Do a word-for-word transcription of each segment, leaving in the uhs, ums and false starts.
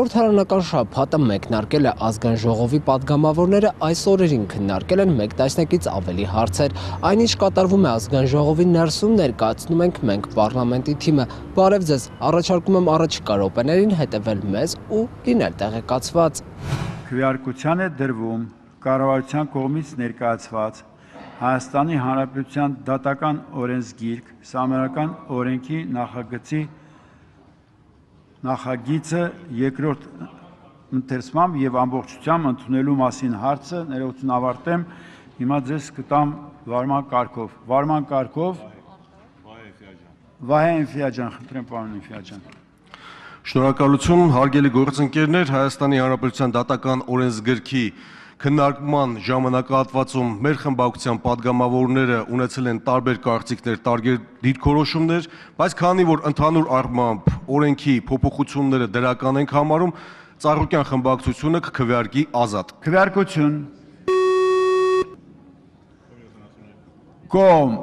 Խորհրդարանական շաբաթը մեկնարկել է ազգային ժողովի պատգամավորները այս օրերին քննարկել են մեկ տասնյակից ավելի հարցեր։ Այնինչ կատարվում է ազգային ժողովի ներսում ներկայացնում ենք մենք պարլամենտի թիմը։ Բարև ձեզ, առաջարկում եմ առաջիկա րոպեներին հետևել մեզ ու լինել տեղեկացված։ Քվեարկության է դրվում կառավարության կողմից ներկայացված Հայաստանի Հանրապետության դատական օրենսգիրք Սահմանադրական օրենքի նախագծի նախագիծը երկրորդ ընթերցմամբ եւ ամբողջությամբ ընդունելու մասին հարցը ներողություն ավարտեմ հիմա ձեզ կտամ վարման կարգով վարման կարգով Վահե Էնֆիաջան խնդրեմ պարոն Էնֆիաջան Շնորհակալություն հարգելի գործընկերներ Հայաստանի Հանրապետության դատական օրենսգրքի քննարկման ժամանակահատվածում մեր խմբակցության падգամավորները ունեցել են տարբեր կարծիքներ, տարբեր դիրքորոշումներ, բայց քանի որ ընդհանուր առմամբ օրենքի փոփոխությունները դրական ենք համարում, Ծառուկյան խմբակցությունը կքվեարկի ազատ։ Քվեարկություն Կողմ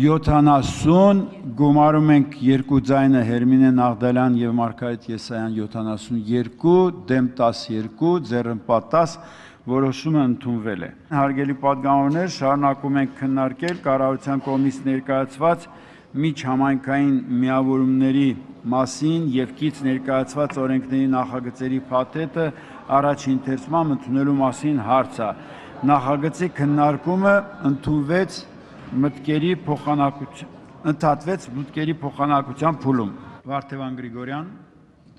յոթանասուն գումարում ենք երկու ձայնը Հերմինե Նաղդալյան եւ Մարգարիտ Եսայան յոթանասունյոթ դեմ տասնյոթ ձեռնպատ տասը որոշումը ընդունվել է։ Հարգելի падգամավորներ, շարունակում ենք քննարկել կառավարության կողմից ներկայացված միջհամայնքային միավորումների մասին եւ կից ներկայացված օրենքների նախագծերի փաթեթը առաջին ընթերցման ընդունելու մասին հարցը։ Նախագծի քննարկումը ընդունվեց մտքերի փոխանակության ընդհատվեց մտքերի փոխանակության փուլում։ Վարդևան Գրիգորյան,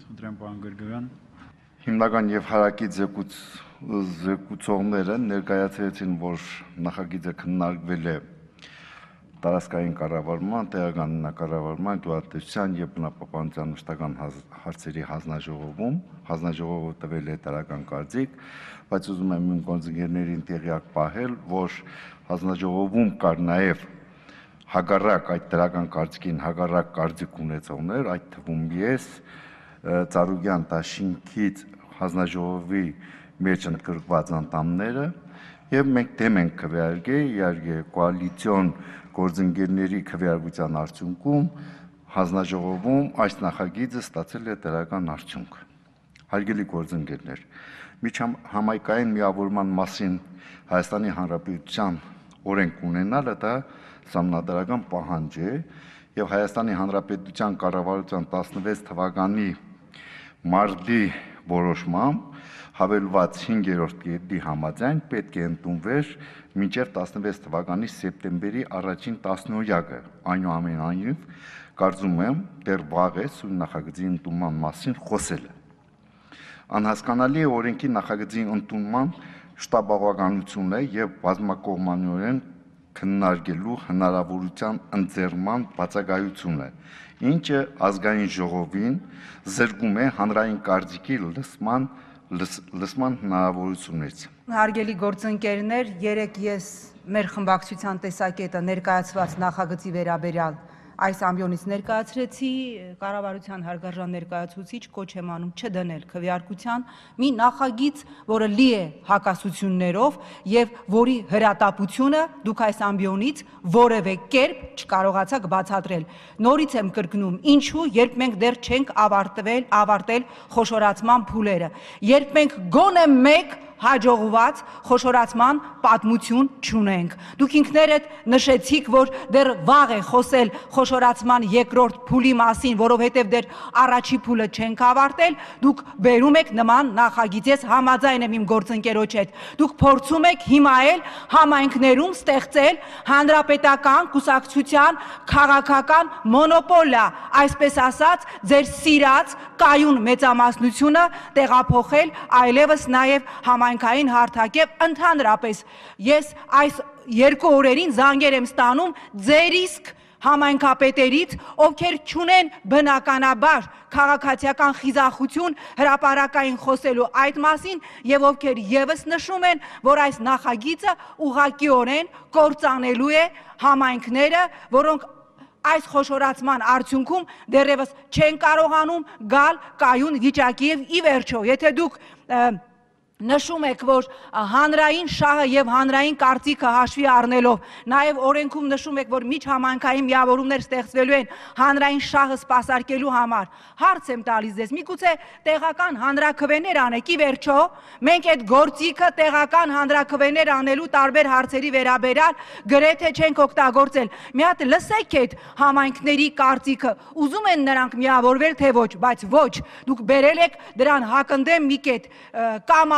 խնդրեմ պարոն Գրիգորյան։ Հիմնական եւ հարակի զեկույց զեկուցողները ներկայացրեցին, որ նախագիծը քննարկվել է տարածքային կառավարման, տեղական կառավարման, գյուղատնտեսության եւ բնապահպանության մշտական հարցերի հանձնաժողովում, հանձնաժողովը տվել է տարական կարծիք, բայց ուզում եմ իմ գործընկերներին տեղյակ պահել, որ հանձնաժողովում կար նաեւ հակառակ այդ տարական կարծիքին հակառակ կարծիք ունեցողներ, այդ թվում ես Ծառուկյան դաշինքից հանձնաժողովի մեջ ընդգրկված անդամները եւ մենք դեմ ենք քվեարկել, իհարկե կոալիցիոն գործընկերների քվեարկության արդյունքում հանձնաժողովում այս նախագիծը ստացել է դրական արդյունք։ Հարգելի գործընկերներ, միջհամայնքային միավորման մասին Հայաստանի Հանրապետության օրենք ունենալը դա սահմանադրական պահանջ է եւ Հայաստանի Հանրապետության կառավարության տասնվեց թվականի մարտի որոշմամբ հավելված հինգերորդ կետի համաձայն պետք է ընդունվեր մինչև տասնվեց թվականի սեպտեմբերի առաջին տասնօրյակը։ Այնուամենայնիվ, կարծում եմ, դեռ վաղ է սույն նախագծի ընդունման մասին խոսելը։ Անհասկանալի է օրենքի նախագծի ընդունման շտապողականությունը եւ բազմակողմանիորեն քննարկելու հնարավորության ընձեռման բացակայությունը, ինչը ազգային ժողովին զրկում է հանրային կարծիքի լսման լսման հնարավորությունից։ Հարգելի գործընկերներ, երեք ես մեր խմբակցության տեսակետը ներկայացված նախագծի վերաբերյալ այս ամբիոնից ներկայացրեցի, կառավարության հարգարժան ներկայացուցիչ կոչ եմ անում չդնել քվեարկության մի նախագիծ, որը լի է հակասություններով եւ որի հրատապությունը դուք այս ամբիոնից որևէ կերպ չկարողացաք բացատրել։ Նորից եմ կրկնում, ինչու, երբ մենք դեռ չենք ավարտվել, ավարտել խոշորացման փուլերը, երբ մենք գոնե մեկ հաջողված խոշորացման պատմություն չունենք։ Դուք ինքներդ նշեցիք, որ դեռ վաղ է խոսել խոշորացման երկրորդ փուլի մասին, որովհետև դեռ առաջի փուլը չենք ավարտել, դուք բերում եք նման նախագիծ, ես համաձայն եմ իմ գործընկերոջ հետ։ Դուք փորձում եք հիմա էլ համայնքներում ստեղծել հանրապետական կուսակցության քաղաքական մոնոպոլիա, այսպես ասած, ձեր սիրած կայուն մեծամասնությունը տեղափոխել այլևս նաև համայնքային հարթակ եւ ընդհանրապես ես այս երկու օրերին զանգեր եմ ստանում ձեր իսկ համայնքապետերից, ովքեր չունեն բնականաբար քաղաքացիական խիզախություն հրապարակային խոսելու այդ մասին եւ ովքեր եւս նշում են, որ այս նախագիծը ուղղակիորեն կործանելու է համայնքները, որոնք այս խոշորացման արդյունքում դեռևս չեն կարողանում գալ կայուն վիճակի եւ ի վերջո, եթե դուք նշում եք, որ հանրային շահը եւ հանրային կարծիքը հաշվի առնելով, նաեւ օրենքում նշում եք, որ միջհամայնքային միավորումներ ստեղծվելու են հանրային շահը սպասարկելու համար։ Հարց եմ տալիս ձեզ, միգուցե տեղական հանրաքվեներ անեք, ի վերջո, մենք այդ գործիքը տեղական հանրաքվեներ անելու տարբեր հարցերի վերաբերյալ գրեթե չենք օգտագործել։ Մի հատ լսեք այդ համայնքների կարծիքը, ուզում են նրանք միավորվել, թե ոչ, բայց ոչ, դուք բերել եք դրան հակընդդեմ մի կետ կամ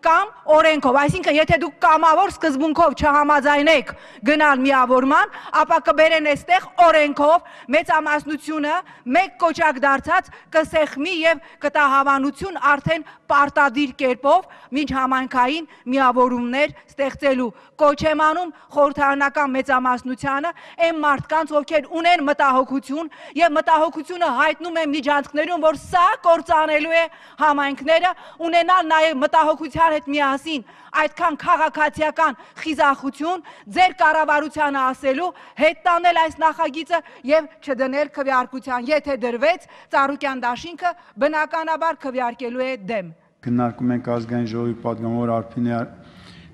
կամ օրենքով, այսինքն եթե դուք կամավոր սկզբունքով չհամաձայնեք գնալ միավորման, ապա կբերեն այստեղ օրենքով մեծամասնությունը մեկ կոճակ դարձած կսեղմի եւ կտա հավանություն արդեն պարտադիր կերպով միջհամայնքային միավորումներ ստեղծելու։ Կոչ եմ անում խորհրդարանական մեծամասնությանը այն մարդկանց, ովքեր ունեն մտահոգություն եւ մտահոգությունը հայտնում են միջանցքներում, որ սա կործանելու է համայնքները, ունենալ նաեւ մտահոգության հետ միասին այդքան քաղաքացիական խիզախություն ձեր կառավարությանը ասելու հետ տանել այս նախագիծը եւ չդնել քվեարկության, եթե դրվեց Ծառուկյան դաշինքը բնականաբար քվեարկելու է դեմ։ Քննարկում ենք ազգային ժողովի պատգամավոր Արփինե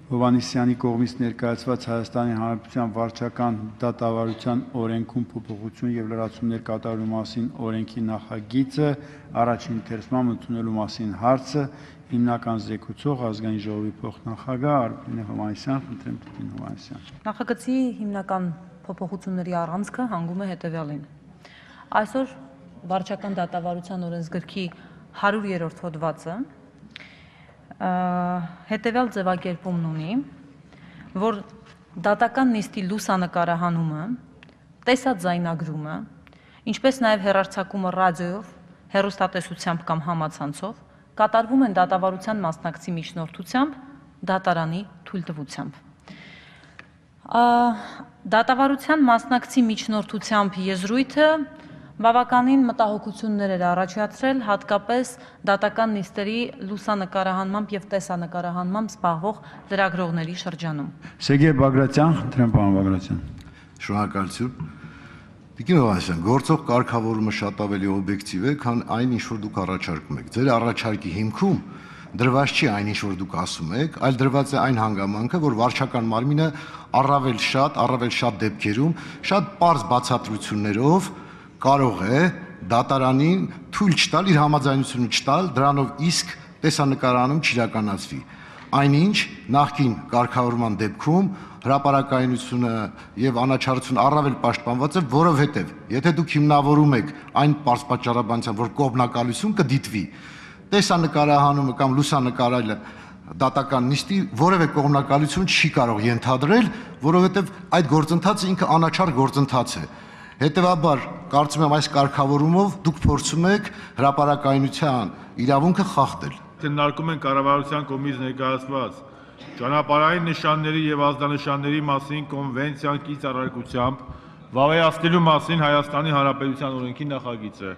Հովհաննիսյանի կողմից ներկայացված Հայաստանի Հանրապետության վարչական դատավարության օրենքում փոփոխություն եւ լրացումներ կատարելու մասին օրենքի նախագիծը առաջին ընթերցման ընդունելու մասին հարցը հիմնական զեկուցող ազգային ժողովի փոխնախագահ Արփինե Հովհաննիսյան, խնդրեմ Տիկին Հովհաննիսյան։ Նախագծի հիմնական փոփոխությունների առանցքը հանգում է հետևյալին։ Այսօր վարչական դատավարության օրենսգրքի հարյուրերորդ հոդվածը հետևյալ ձևակերպումն ունի, որ դատական նիստի լուսանկարահանումը, տեսաձայնագրումը, ինչպես նաև հեռարձակումը ռադիոյով, հեռուստատեսությամբ կամ համացանցով կատարվում են դատավարության մասնակցի միջնորդությամբ, դատարանի թույլտվությամբ։ Դատավարության մասնակցի միջնորդությամբ եզրույթը բավականին մտահոգություններ էր առաջացրել, հատկապես դատական նիստերի լուսանկարահանմամբ եւ տեսանկարահանմամբ զբաղվող լրագրողների շրջանում։ Սերգեյ Բագրատյան, խնդրեմ պարոն Բագրատյան։ Շնորհակալություն։ Տիկին Հովհաննիսյան, գործող կարգավորումը շատ ավելի օբյեկտիվ է, քան այն, ինչ որ դուք առաջարկում եք։ Ձեր առաջարկի հիմքում դրված չի այն, ինչ որ դուք ասում եք, այլ դրված է այն հանգամանքը, որ վարչական մարմինը առավել շատ, առավել շատ դեպքերում, շատ պարզ բացատրություններով կարող է դատարանին թույլ չտալ, իր համաձայնությունը չտալ, դրանով իսկ տեսանկարանում չիրականացվի։ Այնինչ նախկին կարգավորման դեպքում հրապարակայնությունը եւ անաչառությունը առավել պաշտպանված է, որովհետեւ եթե դուք հիմնավորում եք այն պարզ պատճառաբանությամբ, որ կողմնակալություն կդիտվի, տեսանկարահանումը կամ լուսանկարելը դատական նիստի որևէ կողմնակալություն չի կարող ենթադրել, որովհետեւ այդ գործընթացը ինքը անաչառ գործընթաց է։ Հետևաբար, կարծում եմ այս կարգավորումով դուք փորձում եք հրապարակայնության իրավունքը խախտել։ Քննարկում են կառավարության կողմից ներկայացված ճանապարհային նշանների եւ ազդանշանների մասին կոնվենցիան կից առարկությամբ վավերացնելու մասին Հայաստանի Հանրապետության օրենքի նախագիծը։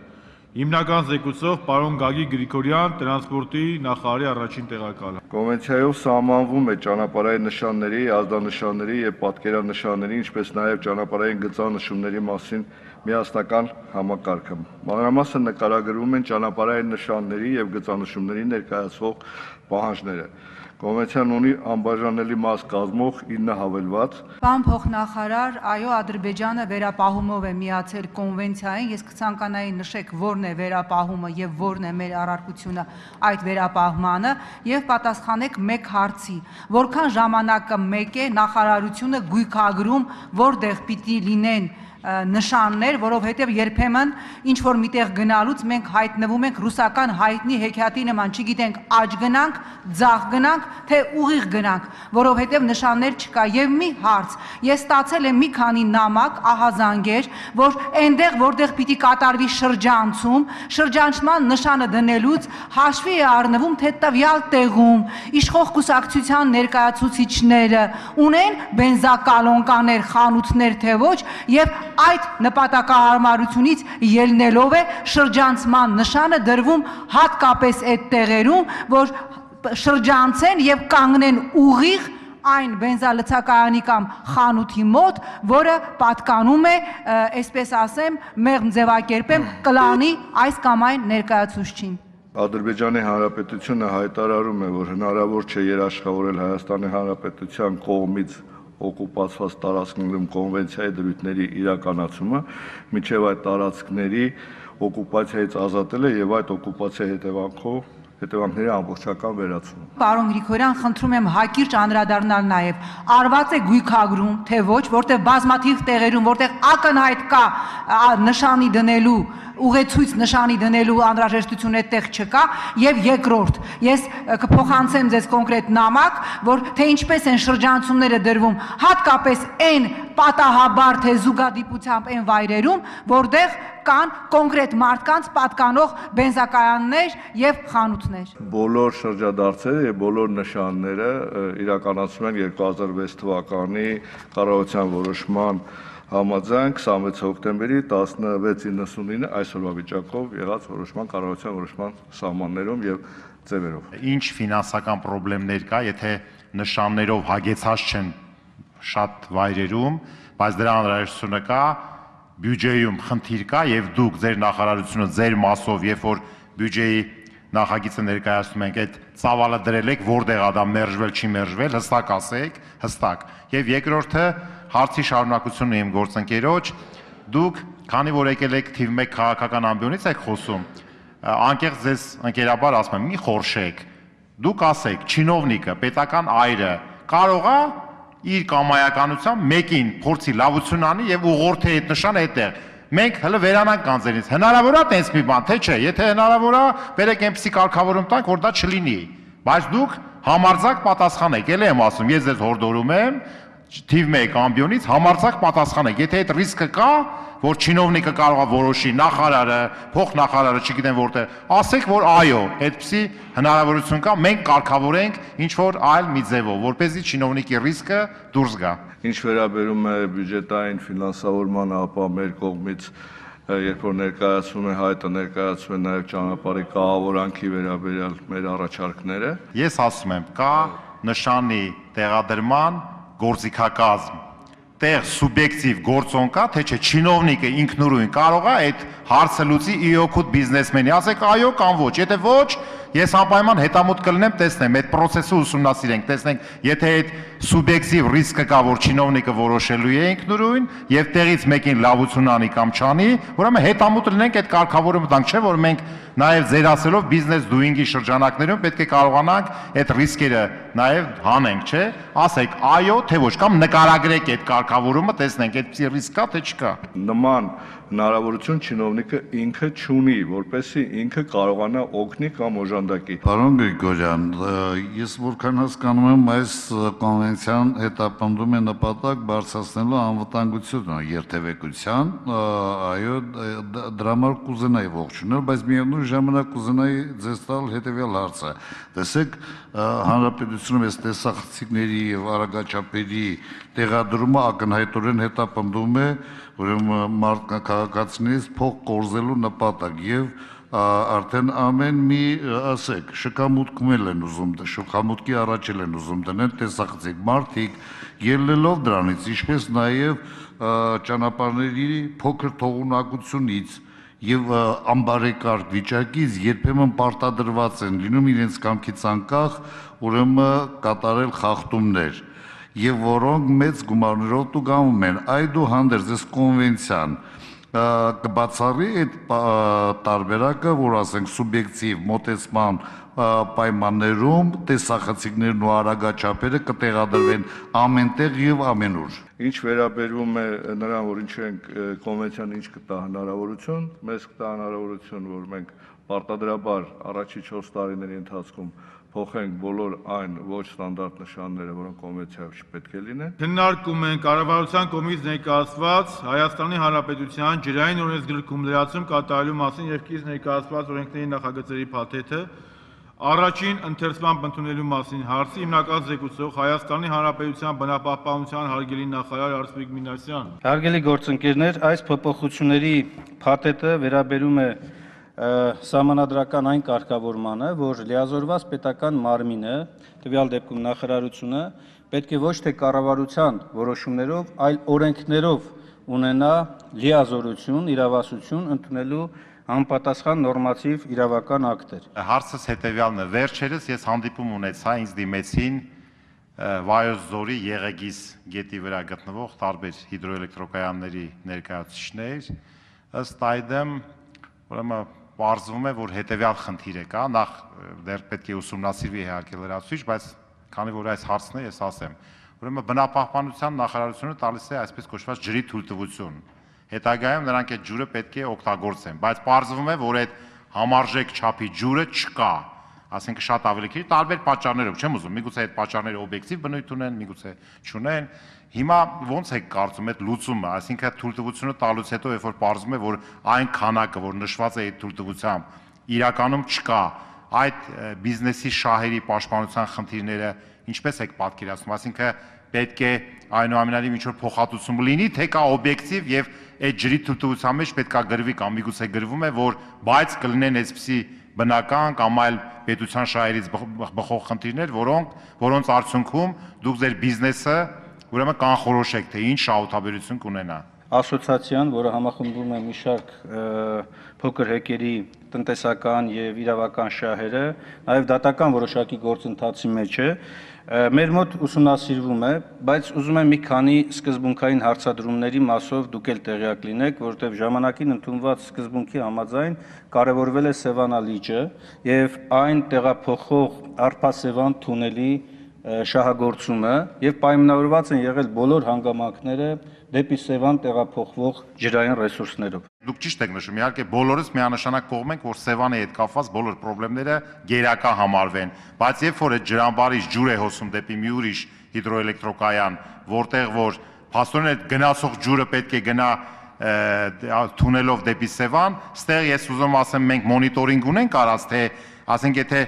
Հիմնական զեկուցող պարոն Գագիկ Գրիգորյան, տրանսպորտի նախարարի առաջին տեղակալը։ Կոնվենցիայով սահմանվում է ճանապարհային նշանների, ազդանշանների եւ պատկերանշանների, ինչպես նաեւ ճանապարհային գծանշումների մասին միասնական համակարգը։ Մանրամասն նկարագրվում են ճանապարհային նշանների եւ գծանշումների ներկայացվող պահանջները։ Կոնվենցիան ունի անբաժանելի մաս կազմող ինը հավելված։ Պարոն փոխնախարար, այո, Ադրբեջանը վերապահումով է միացել կոնվենցիային, ես կցանկանայի նշեք որն է վերապահումը եւ որն է մեր առարկությունը այդ վերապահմանը եւ պատասխանեք մեկ հարցի, որքան ժամանակը մեկ է նախարարությունը գույքագրում, որտեղ պիտի լինեն նշաններ, որովհետև երբեմն ինչ որ միտեղ գնալուց մենք հայտնվում ենք ռուսական հայտնի հեքիաթի նման, չգիտենք աջ գնանք, ձախ գնանք, թե ուղիղ գնանք, որովհետև նշաններ չկա։ Եվ մի հարց, ես ստացել եմ մի քանի նամակ, ահազանգեր, որ այնտեղ, որտեղ պիտի կատարվի շրջանցում, շրջանցման նշանը դնելուց հաշվի է առնվում, թե տվյալ տեղում իշխող կուսակցության ներկայացուցիչները ունեն բենզակալոնկաներ, խանութներ, թե ոչ, եւ այդ նպատակահարմարությունից ելնելով է շրջանցման նշանը դրվում հատկապես այդ տեղերում, որ շրջանցեն եւ կանգնեն ուղիղ այն բենզալցակայանի կամ խանութի մոտ, որը պատկանում է, այսպես ասեմ, մեղմ ձևակերպեմ, կլանի այս կամ այն ներկայացուցչին։ Ադրբեջանի Հանրապետությունը հայտարարում է, որ հնարավոր չէ երաշխավորել Հայաստանի Հանրապետության կողմից օկուպացված տարածքներում կոնվենցիայի դրույթների իրականացումը, մինչև այդ տարածքների օկուպացիայից ազատելը եւ այդ օկուպացիայի հետևանքով հետևանքների ամբողջական վերացումը։ Պարոն Գրիգորյան, խնդրում եմ հակիրճ անդրադառնալ նաև արված է գույքագրում, թե ոչ, որտեղ բազմաթիվ տեղերում, որտեղ ակնհայտ կա նշանի դնելու ուղեցույց նշանի դնելու անհրաժեշտություն այդտեղ չկա, եւ երկրորդ, ես կփոխանցեմ ձեզ կոնկրետ նամակ, որ թե ինչպես են շրջանցումները դրվում, հատկապես այն պատահաբար թե զուգադիպությամբ այն վայրերում, որտեղ կան կոնկրետ մարդկանց պատկանող բենզակայաններ եւ խանութներ։ Բոլոր շրջադարձերը եւ բոլոր նշանները իրականացվում են երկու հազար վեց թվականի կառավարության որոշման համաձայն քսանվեց հոկտեմբերի տասնվեցը նվեցինը այսօրվա վիճակով եղած որոշման կառավարության որոշման սահմաններում եւ ձևերով։ Ինչ ֆինանսական խնդիրներ կա, եթե նշաններով հագեցած չեն շատ վայրերում, բայց դրա անհրաժեշտությունը կա, բյուջեում խնդիր կա եւ դուք ձեր նախարարությունը ձեր մասով, երբ որ բյուջեի նախագիծը ներկայացնում ենք, այդ ծավալը դրել եք, որտեղ ա դա մերժվել, չի մերժվել, հստակ ասեք, հստակ։ Եվ երկրորդը հարցի շարունակությունը իմ գործընկերոջ, դուք քանի որ եկել եք թիվ մեկ քաղաքական ամբիոնից եք խոսում, անկեղծ ձեզ ընկերաբար ասում եմ, մի խորշեք, դուք ասեք, չինովնիկը, պետական այրը կարող է իր կամայականությամբ մեկին փորձի լավություն անի եւ ուղղորդի այդ նշանը այդտեղ։ Մենք հələ վերանանք կանձերից։ Հնարավոր է տենց մի բան, թե չէ, եթե հնարավոր է, բերեք այնպեսի կարգավորում տանք, որ դա չլինի։ Բայց դուք համարձակ պատասխանեք, ելի եմ ասում, ես ձեզ հորդորում եմ, թիվ մեկ ամբիոնից համարձակ պատասխանեք, եթե այդ ռիսկը կա, որ չինովնիկը կարող է որոշի, նախարարը, փոխնախարարը, չգիտեմ որտեղ, ասեք, որ այո, այդպիսի հնարավորություն կա, մենք կարգավորենք ինչ որ այլ մի ձևով, որպեսզի չինովնիկի ռիսկը դուրս գա։ Ինչ վերաբերում է բյուջետային ֆինանսավորման, ապա մեր կողմից երբ որ ներկայացվում է հայտը, ներկայացվում է նաև ճանապարհի կահավորանքի վերաբերյալ մեր առաջարկները։ Ես ասում եմ, կա նշանի տեղադրման գործիքակազմ, տեղ սուբյեկտիվ գործոն կա, թե չէ չինովնիկը ինքնուրույն կարող է այդ հարցը լուծի ի օգուտ բիզնեսմենի, ասեք այո կամ ոչ, եթե ոչ, ես անպայման հետամուտ կլինեմ, տեսնեմ, այդ process-ը ուսումնասիրենք, տեսնենք, եթե այդ սուբյեկտիվ ռիսկը կա, որ չինովնիկը որոշելու է ինքնուրույն եւ տեղից մեկին լավություն անի կամ չանի, ուրեմն հետամուտ լինենք այդ կարգավորումը տանք, չէ՞ որ մենք նաեւ ձեր ասելով բիզնես դուինգի շրջանակներում պետք է կարողանանք այդ ռիսկերը նաեւ հանենք, չէ՞, ասեք այո, թե ոչ, կամ նկարագրեք այդ կարգավորումը, տեսնենք այդպիսի ռիսկ կա, թե չկա։ Նման հնարավորություն չինովնիկը ինքը չունի, որպեսզի ինքը կարողանա օգնի կամ օժանդակի։ Պարոն Գրիգորյան, ես որքան հասկանում եմ, այս կոնվենցիան հետապնդում է նպատակ բարձրացնելու անվտանգությունը երթևեկության, այո, դրա համար կուզենայի ողջունել, բայց միևնույն ժամանակ կուզենայի ձեզ տալ հետևյալ հարցը։ Տեսեք, հանրապետությունում այս տեսախցիկների եւ արագաչափերի տեղադրումը ակնհայտորեն հետապնդում է ուրեմն մարդկա քաղաքացիներից փող կորզելու նպատակ եւ արդեն ամեն մի ասեք շքամուտքում են ուզում շքամուտքի առաջել են ուզում դնել տեսախցիկ մարդիկ ելնելով դրանից ինչպես նաեւ ճանապարհների փոքր թողունակությունից եւ ամբարեկարգ վիճակից երբեմն պարտադրված են լինում իրենց կամքից անկախ ուրեմն կատարել խախտումներ եւ որոնք մեծ գումարներով տուգանվում են այդուհանդերձ այս կոնվենցիան կբացառի այդ տարբերակը որ ասենք սուբյեկտիվ մոտեցման պայմաններում տեսախցիկներն ու արագաչափերը կտեղադրվեն ամենտեղ եւ ամենուր։ Ինչ վերաբերում է նրան, որ ինչ ենք կոնվենցիան ինչ կտա հնարավորություն, մեզ կտա հնարավորություն, որ մենք պարտադրաբար առաջի չորս տարիների ընթացքում փոխենք բոլոր այն ոչ ստանդարտ նշանները, որոնք կոնվենցիայով չպետք է լինեն։ Քննարկում են կառավարության կողմից ներկայացված Հայաստանի Հանրապետության ջրային օրենսգրքում լրացում կատարելու մասին եւ կից ներկայացված օրենքների նախագծերի փաթեթը առաջին ընթերցման ընդունելու մասին հարցի հիմնական զեկուցող Հայաստանի Հանրապետության բնապահպանության հարգելի նախարար Արսպիկ Մինասյան։ Հարգելի գործընկերներ, այս փոփոխությունների փաթեթը վերաբերում է սահմանադրական այն կարգավորմանը, որ լիազորված պետական մարմինը, տվյալ դեպքում նախարարությունը, պետք է ոչ թե կառավարության որոշումներով, այլ օրենքներով ունենա լիազորություն, իրավասություն ընդունելու համապատասխան նորմատիվ իրավական ակտեր։ Հարցս հետևյալն է, վերջերս ես հանդիպում ունեցա, ինձ դիմեցին Վայոց ձորի Եղեգիս գետի վրա գտնվող տարբեր հիդրոէլեկտրոկայանների ներկայացուցիչներ, ըստ այդմ, ուրեմն պարզվում է, որ հետևյալ խնդիր է կա, նախ դեռ պետք է ուսումնասիրվի իհարկե լրացուցիչ, բայց քանի որ այս հարցն է, ես ասեմ, ուրեմն բնապահպանության նախարարությունը տալիս է այսպես կոչված ջրի թույլտվություն։ Հետագայում նրանք այդ ջուրը պետք է օգտագործեն, բայց պարզվում է, որ այդ համարժեք չափի ջուրը չկա, ասենք շատ ավելի քիչ տարբեր պատճառներով, չեմ ուզում, միգուցե այդ պատճառները օբյեկտիվ բնույթ ունեն, միգուցե չունեն։ Հիմա ո՞նց է կարծում այդ լուծումը, այսինքն թույլտվությունը տալուց հետո, երբ որ պարզվում է, որ այն քանակը, որ նշված է այդ թույլտվությամբ, իրականում չկա, այդ բիզնեսի շահերի պաշտպանության խնդիրները ինչպես եք պատկերացնում, այսինքն պետք է այնուամենայնիվ ինչ-որ փոխհատուցում լինի, թե կա օբյեկտիվ եւ այդ ջրի թույլտվության մեջ պետքա գրվի կամ միգուցե գրվում է, որ բայց կլինեն այսպիսի բնական կամ այլ պետության շահերից բխող խնդիրներ, որոնք որոնց արդյունքում դուք ձեր բիզնեսը ուրեմն կանխորոշեք, թե ինչ շահութաբերություն կունենա։ Ասոցիացիան, որը համախմբում է մի շարք փոքր հեկերի տնտեսական եւ իրավական շահերը, նաեւ դատական որոշակի գործընթացի մեջ է, մեր մոտ ուսումնասիրվում է, բայց ուզում եմ մի քանի սկզբունքային հարցադրումների մասով դուք էլ տեղյակ լինեք, որովհետեւ ժամանակին ընդունված սկզբունքի համաձայն կարևորվել է Սևանա լիճը եւ այն տեղափոխող Արփասևան թունելի շահագործումը եւ պայմանավորված են եղել բոլոր հանգամանքները դեպի Սևան տեղափոխվող ջրային ռեսուրսներով։ Դուք ճիշտ եք նշում, իհարկե բոլորս միանշանակ կողմ ենք, որ Սևանի հետ կապված բոլոր խնդիրները գերակա համարվեն, բայց երբ որ այդ ջրամբարից ջուր է հոսում դեպի մի ուրիշ հիդրոէլեկտրոկայան, որտեղ որ փաստորեն այդ գնացող ջուրը պետք է գնա թունելով դեպի Սևան, ստեղ ես ուզում ասեմ մենք մոնիտորինգ ունենք արած, թե ասենք եթե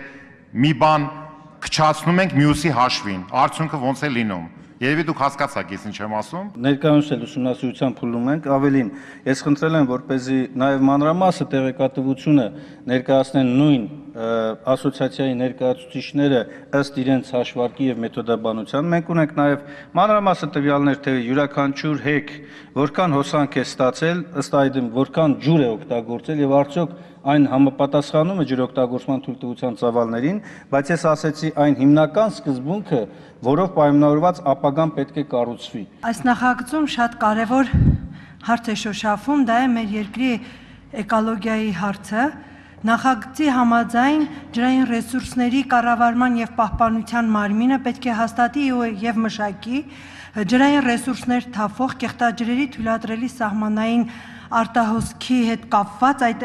մի բան քչացնում ենք մյուսի հաշվին, արդյունքը ոնց է լինում։ Երևի դուք հասկացաք ես ինչ եմ ասում։ Ներկայումս էլ ուսումնասիրության փուլում ենք, ավելին, ես խնդրել եմ, որպեսզի նաև մանրամասը տեղեկատվությունը ներկայացնեն նույն ասոցիացիայի ներկայացուցիչները ըստ իրենց հաշվարկի եւ մեթոդաբանության։ Մենք ունենք նաև մանրամասը տվյալներ, թե յուրաքանչյուր հեկ որքան հոսանք է ստացել, ըստ այդմ որքան ջուր է օգտագործել եւ արդյոք այն համապատասխանում է ջրօգտագործման թույլտվության ծավալներին, բայց ես ասեցի այն հիմնական սկզբունքը, որով պայմանավորված ապագան պետք է կառուցվի։ Այս նախագծում շատ կարևոր հարց է շոշափում, դա է մեր երկրի էկոլոգիայի հարցը։ Նախագծի համաձայն ջրային ռեսուրսների կառավարման եւ պահպանության մարմինը պետք է հաստատի եւ մշակի ջրային ռեսուրսներ թափող կեղտաջրերի թույլատրելի սահմանային արտահոսքի հետ կապված այդ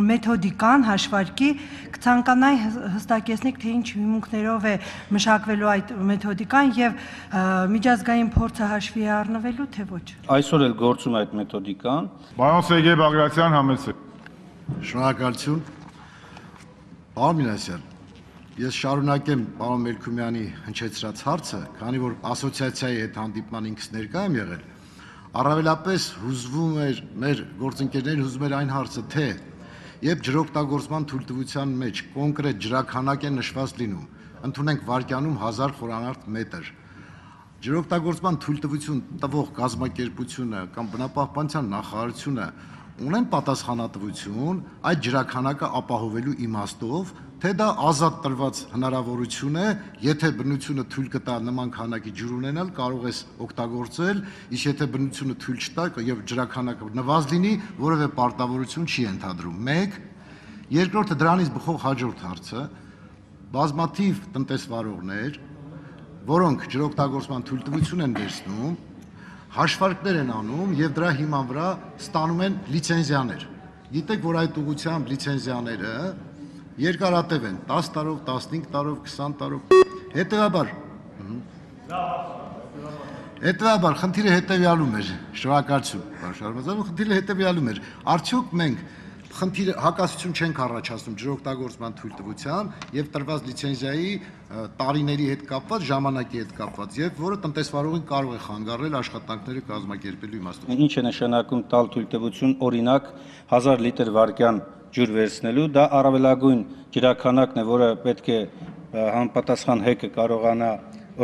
մեթոդիկան հաշվարկի, կցանկանայի հստակեցնեք, թե ինչ հիմունքներով է մշակվելու այդ մեթոդիկան եւ միջազգային փորձը հաշվի է առնվելու, թե ոչ։ Այսօր էլ գործում է այդ մեթոդիկան։ Պարոն Սերգեյ Բագրատյան, համեցեք։ Շնորհակալություն։ Պարոն Մինասյան, ես շարունակեմ պարոն Մելքումյանի հնչեցրած հարցը, քանի որ ասոցիացիայի հետ հանդիպման ինքս ներկա եմ եղել, առավելապես հուզվում էր մեր գործընկերներին հուզում էր այն հարցը, թե երբ ջրօգտագործման թույլտվության մեջ կոնկրետ ջրաքանակ է նշված լինում, ընդունենք վարկյանում հազար խորանարդ մետր, ջրօգտագործման թույլտվություն տվող կազմակերպությունը կամ բնապահպանության նախարարությունը ունեն պատասխանատվություն այդ ջրաքանակը ապահովելու իմաստով, թե դա ազատ տրված հնարավորություն է, եթե բնությունը թույլ կտա նման քանակի ջուր ունենալ, կարող ես օգտագործել, իսկ եթե բնությունը թույլ չտա եւ ջրաքանակը նվազ լինի, որևէ պարտավորություն չի ենթադրում։ Մեկ, երկրորդը դրանից բխող հաջորդ հարցը, բազմաթիվ տնտեսվարողներ, որոնք ջրօգտագործման թույլտվություն են վերցնում, հաշվարկներ են անում եւ դրա հիման վրա ստանում են լիցենզիաներ։ Գիտեք, որ այդ ուղղությամբ լիցենզիաները երկարատև են, տասը տարով, տասնհինգ տարով, քսան տարով։ Հետևաբար Հետևաբար խնդիրը հետևյալում էր, շնորհակալություն, պարոն Շարմազանov, խնդիրը հետևյալում էր։ Արդյոք մենք խնդիրը հակասություն չենք առաջացնում ջրօգտագործման թույլտվության եւ տրված լիցենզիայի տարիների հետ կապված, ժամանակի հետ կապված, եւ որը տնտեսվարողին կարող է խանգարել աշխատանքները կազմակերպելու իմաստով։ Ինչ է նշանակում տալ թույլտվություն, օրինակ հազար լիտր վարկյան ջուր վերցնելու, դա առավելագույն ջրաքանակն է, որը պետք է համապատասխան հեկը կարողանա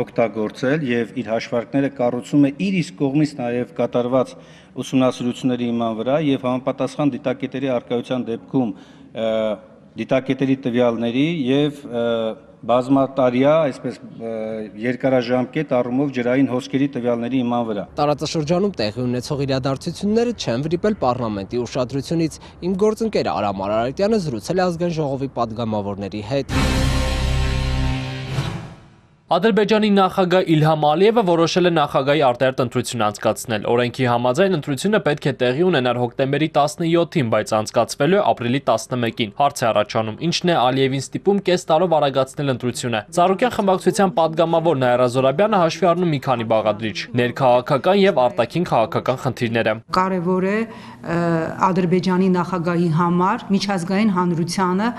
օգտագործել եւ իր հաշվարկները կառուցում է իր իսկ կողմից նաեւ կատարված ուսումնասիրությունների հիման վրա եւ համապատասխան դիտակետերի արկայության դեպքում դիտակետերի տվյալների եւ բազմատարյա, այսպես երկարաժամկետ առումով ջրային հոսքերի տվյալների հիման վրա։ Տարածաշրջանում տեղի ունեցող իրադարձությունները չեն վրիպել պարլամենտի ուշադրությունից։ Իմ գործընկեր Արամ Արարատյանը զրուցել է ազգային ժողովի պատգամավորների հետ։ Ադրբեջանի նախագահ Իլհամ Ալիևը որոշել է նախագահի արտահերթ ընտրություն անցկացնել։ Օրենքի համաձայն ընտրությունը պետք է տեղի ունենար հոկտեմբերի տասնյոթին, բայց անցկացվելու է ապրիլի տասնմեկին։ Հարց է առաջանում, ինչն է Ալիևին ստիպում կես տարով արագացնել ընտրությունը։ Ծառուկյան խմբակցության պատգամավոր Նաիրա Զորաբյանը հաշվի առնում մի քանի բաղադրիչ՝ ներքաղաքական եւ արտաքին քաղաքական խնդիրները։ Կարևոր է Ադրբեջանի նախագահի համար միջազգային հանրությանը,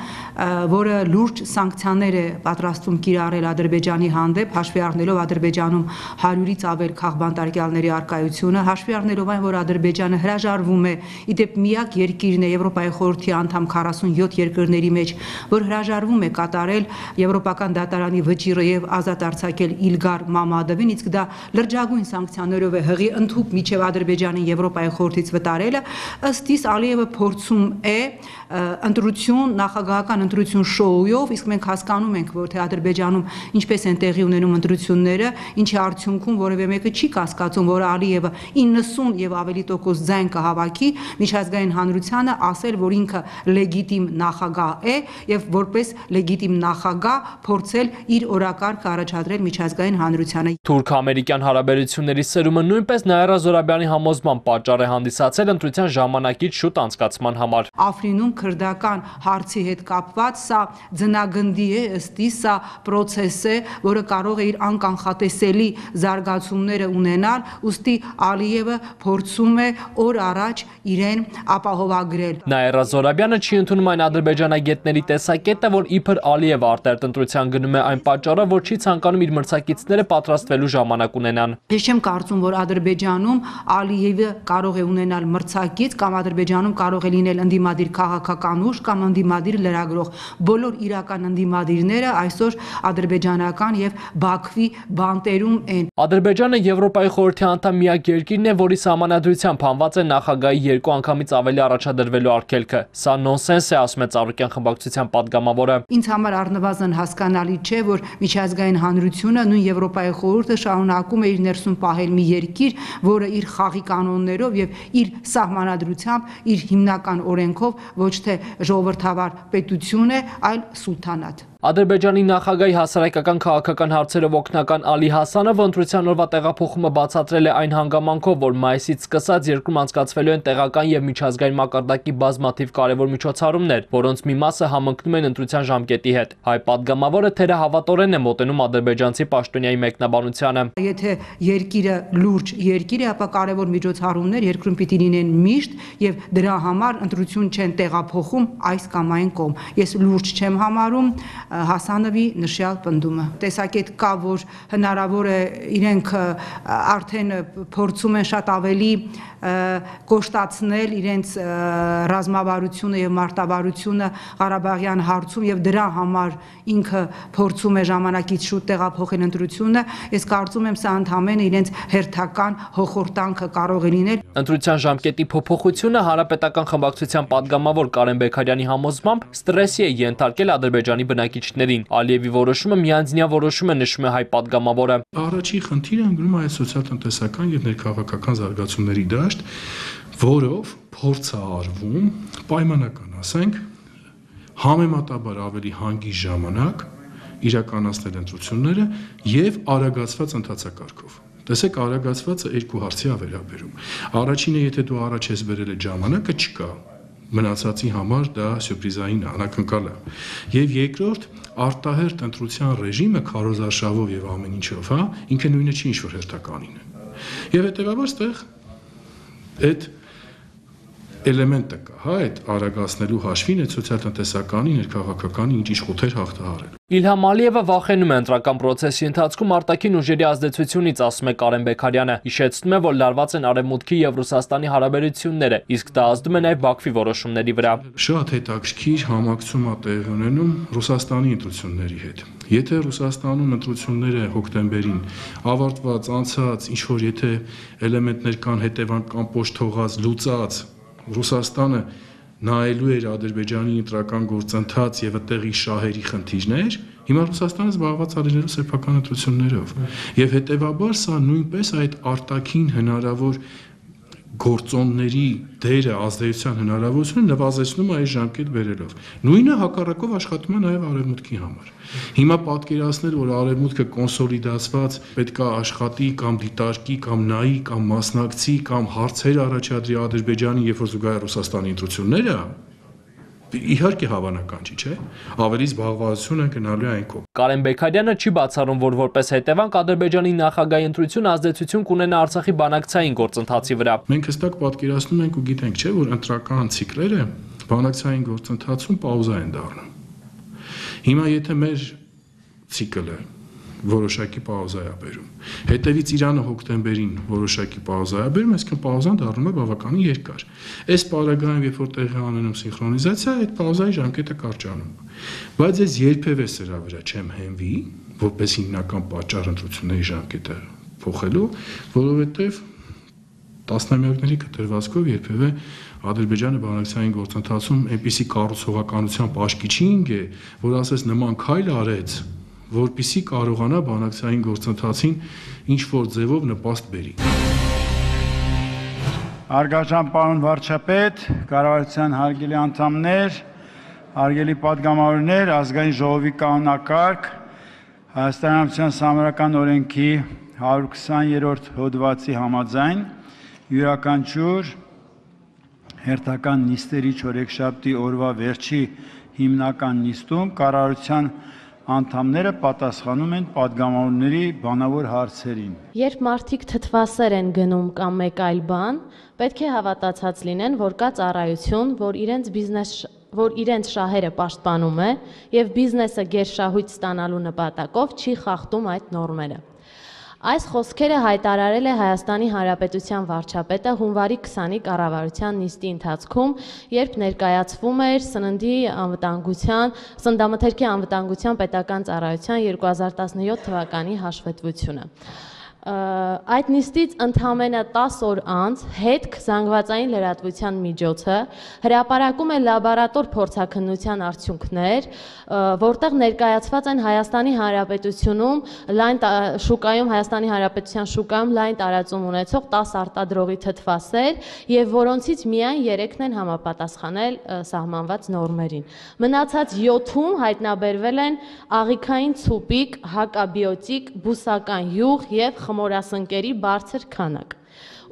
որը լուրջ սանկցիաներ է պատրաստում կիրառել Ադրբեջանի հանդեպ, հաշվի առնելով Ադրբեջանում հարյուրից ավել քաղբանտարկյալների արկայությունը, հաշվի առնելով այն, որ Ադրբեջանը հրաժարվում է, իդեպ միակ երկիրն է Եվրոպայի խորհրդի անդամ քառասունյոթ երկրների մեջ, որ հրաժարվում է կատարել Եվրոպական դատարանի վճիռը եւ ազատ արձակել Իլգար Մամադովին, իսկ դա լրջագույն սանկցիաներով է հղի ընդհուպ միջև Ադրբեջանին Եվրոպայի խորհրդից վտարելը, ըստ իս Ալիևը փորձում է ընտրություն, նախագահական ընտրություն շոուով, իսկ մենք հասկանում ենք, որ թե Ադրբեջանում ինչպես են տեղի ունենում ընտրությունները, ինչի արդյունքում որևէ մեկը չի կասկածում, որ Ալիևը իննսուն եւ ավելի տոկոս ձայն կհավաքի միջազգային հանրությանը ասել, որ ինքը լեգիտիմ նախագահ է եւ որպես լեգիտիմ նախագահ փորձել իր օրակարգը առաջադրել միջազգային հանրությանը։ Թուրք-ամերիկյան հարաբերությունների սերումը նույնպես Նաիրա Զորաբյանի համոզման պատճառ է հանդիսացել ընտրության ժամանակից շուտ անցկացման համար։ Աֆրինում քրդական հարցի հետ կապված սա ձնագնդի է, ըստ իս սա process է, որը կարող է իր անկանխատեսելի զարգացումները ունենալ, ուստի Ալիևը փորձում է օր առաջ իրեն ապահովագրել։ Նաիրա Զորաբյանը չի ընդունում այն ադրբեջանագետների տեսակետը, որ իբր Ալիևը արտահերթ ընտրության գնում է այն պատճառով, որ չի ցանկանում իր մրցակիցները պատրաստվելու ժամանակ ունենան։ Ես չեմ կարծում, որ Ադրբեջանում Ալիևը կարող է ունենալ մրցակից կամ Ադրբեջանում կարող է լինել ընդդիմադիր քաղաքական ուժ կամ ընդդիմադիր լրագրող։ Բոլոր իրական ընդդիմադիրները այսօր ադրբեջանական եւ Բաքվի բանտերում են։ Ադրբեջանը Եվրոպայի խորհրդի անդամ միակ երկիրն է, որի սահմանադրությամբ հանված է նախագահի երկու անգամից ավելի առաջադրվելու արգելքը։ Սա նոնսենս է, ասում է Ծառուկյան խմբակցության պատգամավորը։ Ինձ համար առնվազն հասկանալի չէ, որ միջազգային հանրությունը նույն Եվրոպայի խորհուրդը շարունակում է իր ներսում պահել մի երկիր, որը իր խաղի կանոններով եւ իր սահմանադրությամբ, իր հիմնական օրենքով ոչ թե ժողովրդավար պետություն է, այլ սուլթանատ։ Ադրբեջանի նախագահի հասարակական քաղաքական հարցերով օգնական Ալի Հասանովը ընտրության օրվա տեղափոխումը բացատրել է այն հանգամանքով, որ մայիսից սկսած երկրում անցկացվելու են տեղական եւ միջազգային մակարդակի բազմաթիվ կարևոր միջոցառումներ, որոնց մի մասը համընկնում են ընտրության ժամկետի հետ։ Հայ պատգամավորը թերահավատորեն է մոտենում ադրբեջանցի պաշտոնյայի մեկնաբանությանը։ Եթե երկիրը լուրջ երկիր է, ապա կարևոր միջոցառումներ երկրում պիտի լինեն միշտ եւ դրա համար ընտրություն չեն տեղափոխում այս կամ այն կողմ։ Ես լուրջ չեմ համարում Հասանովի նշյալ պնդումը։ Տեսակետ կա, որ հնարավոր է իրենք արդեն փորձում են շատ ավելի կոշտացնել իրենց ռազմավարությունը եւ մարտավարությունը Ղարաբաղյան հարցում եւ դրա համար ինքը փորձում է ժամանակից շուտ տեղափոխել ընտրությունը։ Ես կարծում եմ սա ընդհանրապես իրենց հերթական հոխորտանքը կարող է լինել։ Ընտրության ժամկետի փոփոխությունը Հանրապետական խմբակցության պատգամավոր Կարեն Բեկարյանի համոզմամբ ստրեսի է ենթարկել Ադրբեջանի բնակիչներին։ Ալիևի որոշումը միանձնյա որոշում է, նշում է հայ պատգամավորը։ Առաջին խնդիրը ընկնում է սոցիալ-տնտեսական եւ ներքաղաքական զարգացումների դաշտ, որով փորձ է արվում պայմանական, ասենք, համեմատաբար ավելի հանգիստ ժամանակ իրականացնել ընտրությունները եւ արագացված ընթացակարգով։ Տեսեք, արագացվածը երկու հարցի է վերաբերում։ Առաջինը, եթե դու առաջ ես բերել այդ ժամանակը, չկա։ Մնացածի համար դա սյուրպրիզային անակնկալ է։ Եվ երկրորդ, արտահերթ ընտրության ռեժիմը քարոզարշավով եւ ամեն ինչով, հա, ինքը նույնը չի ինչ որ հերթականին է։ Եվ հետեւաբար այդտեղ այդ էլեմենտը կա, հա, այդ արագացնելու հաշվին այդ սոցիալ-տնտեսականի, ներքաղաքականի ինչ-ինչ խոթեր հաղթահարել։ Իլհամ Ալիևը վախենում է ընտրական պրոցեսի ընթացքում արտաքին ուժերի ազդեցությունից, ասում է Կարեն Բեքարյանը, հիշեցնում է, որ լարված են Արևմուտքի եւ Ռուսաստանի հարաբերությունները, իսկ դա ազդում է նաեւ Բաքվի որոշումների վրա։ Շատ հետաքրքիր համակցում է տեղի ունենում Ռուսաստանի ընտրությունների հետ։ Եթե Ռուսաստանում ընտրությունները հոկտեմբերին ավարտված, անցած, ինչ որ եթե էլեմենտներ կան հետևական պոշտ թողած, լուծած, Ռուսաստանը նայելու էր Ադրբեջանի ընտրական գործընթաց եւ այդտեղի շահերի խնդիրներ, հիմա Ռուսաստանը զբաղված է լինելու սեփական ընտրություններով։ Եվ հետեւաբար սա նույնպես այդ արտաքին հնարավոր գործոնների դերը ազդեցության հնարավորությունը նվազեցնում է այս ժամկետ բերելով։ Նույնը հակառակով աշխատում է նաև Արևմուտքի համար։ Հիմա պատկերացնել, որ Արևմուտքը կոնսոլիդացված պետք է աշխատի կամ դիտարկի կամ նայի կամ մասնակցի կամ հարցեր առաջադրի Ադրբեջանի, երբ որ զուգահեռ Ռուսաստանի ընտրությունները, իհարկե հավանական չի, չէ՞։ Ավելի զբաղվածություն են գնալու այն կողմ։ Կարեն Բեքարյանը չի բացառում, որ որպես հետևանք Ադրբեջանի նախագահի ընտրությունը ազդեցություն կունենա Արցախի բանակցային գործընթացի վրա։ Մենք հստակ պատկերացնում ենք ու գիտենք, չէ՞, որ ընտրական ցիկլերը բանակցային գործընթացում պաուզա են դառնում։ Հիմա եթե մեր ցիկլը որոշակի պաուզա է բերում, հետևից Իրանը հոկտեմբերին որոշակի պաուզա է բերում, այսինքն պաուզան դառնում է բավականին երկար։ Այս պարագայում, երբ որ տեղի ունենում սինխրոնիզացիա, այդ պաուզայի ժամկետը կարճանում։ Բայց ես երբևէ սրա վրա չեմ հենվի, որպես հիմնական պատճառ ընտրությունների ժամկետը փոխելու, որովհետև տասնամյակների կտրվածքով երբևէ Ադրբեջանը բանակցային գործընթացում այնպիսի կառուցողականությամբ աչքի չի ընկե, որ ասես նման քայլ արեց, որպիսի կարողանա բանակցային գործընթացին ինչ-որ ձևով նպաստ բերի։ Հարգարժան պարոն վարչապետ, կառավարության հարգելի անդամներ, հարգելի պատգամավորներ, ազգային ժողովի կանոնակարգ, Հայաստանի Հանրապետության Սահմանադրական օրենքի հարյուր քսաներորդ հոդվածի համաձայն յուրաքանչյուր հերթական նիստերի չորեքշաբթի օրվա վերջի հիմնական նիստում կառավարության անդամները պատասխանում են պատգամավորների բանավոր հարցերին։ Երբ մարդիկ թթվասեր են գնում կամ մեկ այլ բան, պետք է հավատացած լինեն, որ կա ծառայություն, որ իրենց բիզնես որ իրենց շահերը պաշտպանում է եւ բիզնեսը գերշահույթ ստանալու նպատակով չի խախտում այդ նորմերը։ Այս խոսքերը հայտարարել է Հայաստանի Հանրապետության վարչապետը հունվարի քսանի կառավարության նիստի ընթացքում, երբ ներկայացվում էր սննդի անվտանգության, սննդամթերքի անվտանգության պետական ծառայության երկու հազար տասնյոթ թվականի հաշվետվությունը։ Այդ նիստից ընդամենը տասը օր անց հետք զանգվածային լրատվության միջոցը հրապարակում է լաբորատոր փորձաքննության արդյունքներ, որտեղ ներկայացված են Հայաստանի Հանրապետությունում լայն շուկայում Հայաստանի Հանրապետության շուկայում լայն տարածում ունեցող տասը արտադրողի թթվասեր եւ որոնցից միայն երեքն են համապատասխանել սահմանված նորմերին։ Մնացած յոթում հայտնաբերվել են աղիքային ցուպիկ, հակաբիոտիկ, բուսական յուղ եւ խմորասնկերի բարձր քանակ։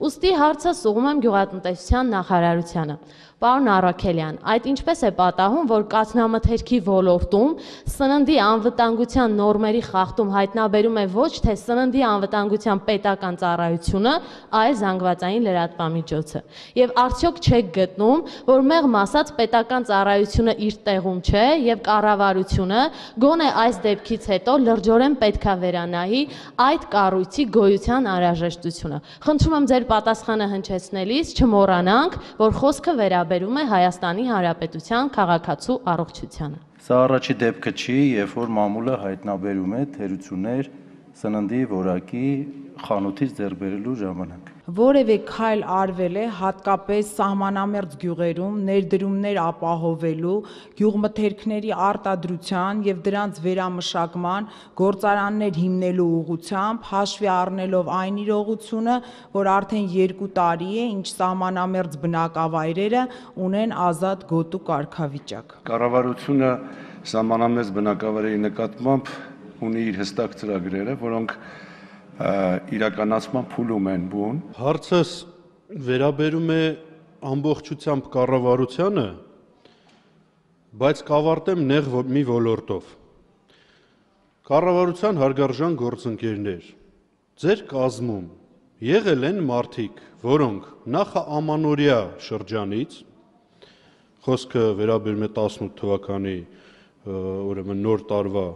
Ուստի հարցը սուղում եմ գյուղատնտեսության նախարարությանը։ Պարոն Առաքելյան, այդ ինչպես է պատահում, որ կաթնամթերքի ոլորտում սննդի անվտանգության նորմերի խախտում հայտնաբերում է ոչ թե սննդի անվտանգության պետական ծառայությունը, այլ զանգվածային լրատվամիջոցը։ Եվ արդյոք չեք գտնում, որ մեղմ ասած պետական ծառայությունը իր տեղում չէ եւ կառավարությունը գոնե այս դեպքից հետո լրջորեն պետքա վերանայի այդ կառույցի գոյության անհրաժեշտությունը։ Խնդրում եմ ձեր պատասխանը հնչեցնելիս չմոռանանք, որ խոսքը վերաբերում բերում է Հայաստանի Հանրապետության քաղաքացու առողջությանը։ Սա առաջի դեպքը չի, երբ որ մամուլը հայտնաբերում է թերություններ սննդի որակի խանութից ձեռք բերելու ժամանակ։ Որևէ քայլ արվել է հատկապես սահմանամերձ գյուղերում ներդրումներ ապահովելու, գյուղմթերքների արտադրության եւ դրանց վերամշակման գործարաններ հիմնելու ուղղությամբ, հաշվի առնելով այն իրողությունը, որ արդեն երկու տարի է, ինչ սահմանամերձ բնակավայրերը ունեն ազատ գոտու կարգավիճակ։ Կառավարությունը սահմանամերձ բնակավայրերի նկատմամբ ունի իր հստակ ծրագրերը, որոնք իրականացման փուլում են բուն։ Հարցս վերաբերում է ամբողջությամբ կառավարությանը, բայց կավարտեմ նեղ մի ոլորտով։ Կառավարության հարգարժան գործընկերներ, ձեր կազմում եղել են մարդիկ, որոնք նախաամանորյա շրջանից, խոսքը վերաբերում է տասնութ թվականի ուրեմն նոր տարվա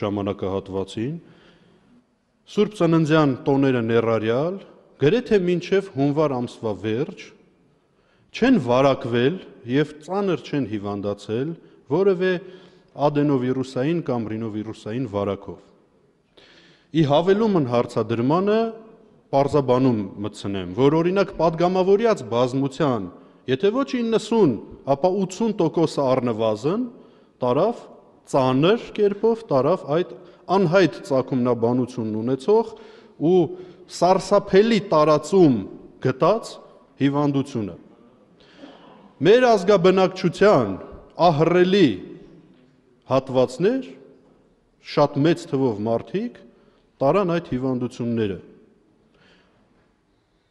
ժամանակահատվածին, Սուրբ Ծննդյան տոները ներառյալ, գրեթե մինչև հունվար ամսվա վերջ, չեն վարակվել և ծանր չեն հիվանդացել որևէ ադենովիրուսային կամ ռինովիրուսային վարակով։ Ի հավելումն հարցադրմանը պարզաբանում մտցնեմ, որ օրինակ պատգամավորյաց բազմության, եթե ոչ իննսուն, ապա ութսուն տոկոսը առնվազն տարավ ծանր կերպով, տարավ այդ անհայտ ծագումնաբանություն ունեցող ու սարսափելի տարածում գտած հիվանդությունը։ Մեր ազգաբնակչության ահռելի հատվածներ, շատ մեծ թվով մարդիկ տարան այդ հիվանդությունները։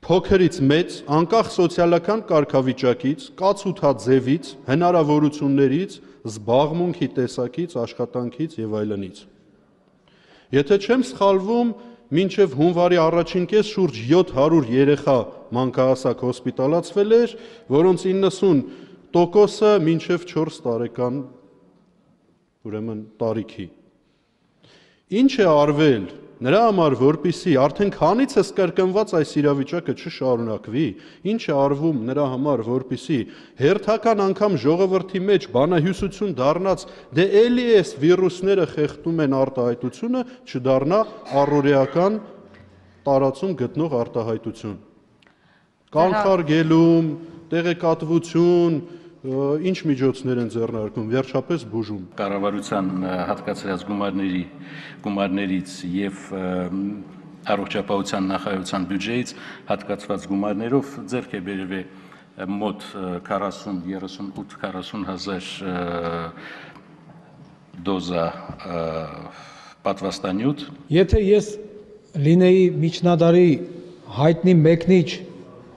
Փոքրից մեծ, անկախ սոցիալական կարգավիճակից, կացութաձևից, հնարավորություններից, զբաղմունքի տեսակից, աշխատանքից եւ այլնից։ Եթե չեմ սխալվում, մինչև հունվարի առաջին կես շուրջ յոթ հարյուր երեխա մանկահասակ հոսպիտալացվել էր, որոնց իննսուն տոկոսը մինչև չորս տարեկան ուրեմն տարիքի։ Ինչ է արվել նրա համար, որպեսզի արդեն քանիցս կրկնված այս իրավիճակը չշարունակվի, ինչ է արվում նրա համար, որպեսզի հերթական անգամ ժողովրդի մեջ բանահյուսություն դառնաց, դե էլի էս վիրուսները խեղդում են արտահայտությունը, չդառնա առօրեական տարածում գտնող արտահայտություն։ Կանխարգելում, տեղեկատվություն, ինչ միջոցներ են ձեռնարկում, վերջապես բուժում։ Կառավարության հատկացրած գումարների գումարներից եւ առողջապահության նախարարության բյուջեից հատկացված գումարներով ձեռք է բերվել մոտ քառասուն երեսունութ քառասուն հազար դոզա պատվաստանյութ։ Եթե ես լինեի միջնադարի հայտնի մեկնիչ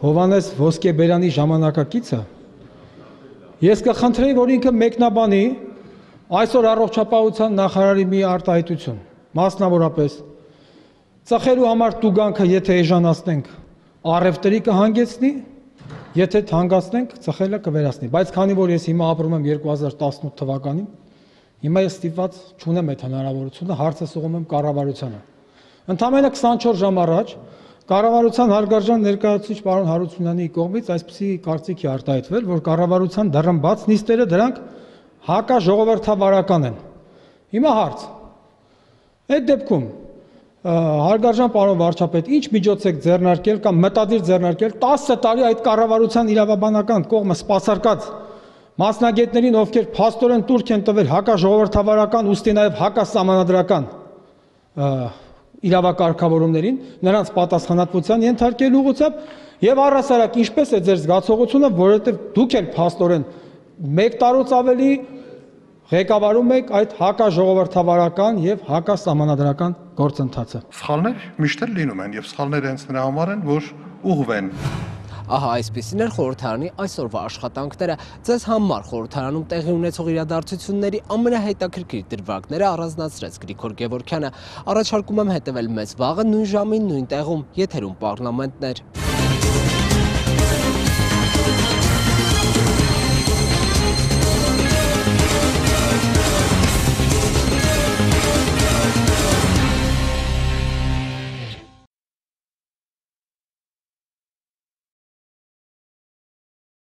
Հովանես Ոսկեբերյանի ժամանակակիցը, ես կխնդրեի, որ ինքը մեկնաբանի այսօր առողջապահության նախարարի մի արտահայտություն, մասնավորապես ծխելու համար տուգանքը եթե էժանացնենք, առևտրի կհանգեցնի, եթե թանկացնենք, ծխելը կվերացնի, բայց քանի որ ես հիմա ապրում եմ երկու հազար տասնութ թվականին, հիմա ես ստիպված չունեմ այդ հնարավորությունը, հարցը սողում եմ կառավարությանը։ Ընդամենը քսանչորս ժամ առաջ կառավարության հարգարժան ներկայացուցիչ պարոն Հարությունյանի կողմից այսպիսի կարծիք է արտահայտվել, որ կառավարության դռնբաց նիստերը դրանք հակաժողովրդավարական են։ Հիմա հարց. այդ դեպքում հարգարժան պարոն վարչապետ, ինչ միջոց եք ձեռնարկել կամ մտադիր ձեռնարկել տասը տարի այդ կառավարության իրավաբանական կողմը սպասարկած մասնագետներին, ովքեր փաստորեն տուրք են տվել հակաժողովրդավարական, ուստի նաև հակասահմանադրական իրավակարգավորումներին, նրանց պատասխանատվության ենթարկելու ուղղությամբ եւ առհասարակ ինչպես է ձեր զգացողությունը, որովհետեւ դուք էլ փաստորեն մեկ տարուց ավելի ղեկավարում եք այդ հակաժողովրդավարական եւ հակասահմանադրական գործընթացը։ Սխալներ միշտ էլ լինում են եւ սխալները հենց նրա համար են, որ ուղղվեն։ Ահա այսպիսին էր խորհրդարանի այսօրվա աշխատանքները։ Ձեզ համար խորհրդարանում տեղի ունեցող իրադարձությունների ամենահետաքրքիր դրվագները առանձնացրեց Գրիգոր Գևորգյանը։ Առաջարկում եմ հետևել մեզ վաղը նույն ժամին, նույն տեղում, եթերում պարլամենտներ։